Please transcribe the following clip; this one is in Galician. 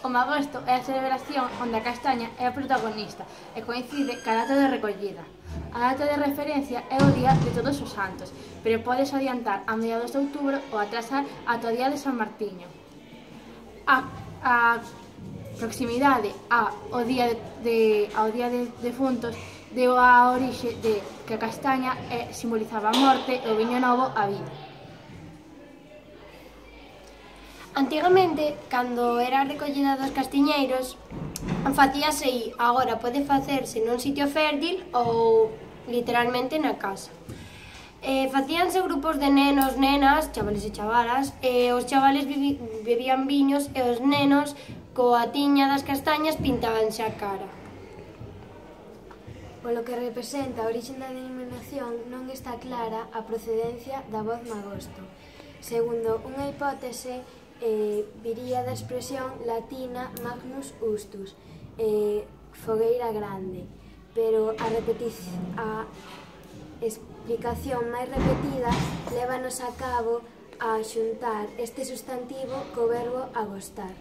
O magosto é a celebración onde a castaña é a protagonista e coincide ca data de recollida. A data de referencia é o día de Todos os Santos, pero podes adiantar a mediados de outubro ou atrasar ata o día de San Martiño. A proximidade ao día de defuntos deu a orixe de que a castaña simbolizaba a morte e o viño novo a vida. Antigamente, cando era a recollida dos castiñeiros, facíase aí, agora pode facerse nun sitio fértil ou literalmente na casa. Facíanse grupos de nenos, nenas, chavales e chavalas, e os chavales bebían viños e os nenos coa tiña das castañas pintábanse a cara. Polo que representa a orixe da denominación non está clara a procedencia da voz magosto. Segundo unha hipótese, viría da expresión latina magnus ustus, fogueira grande, pero a explicación máis repetida lévanos a cabo a xuntar este substantivo co verbo agostar.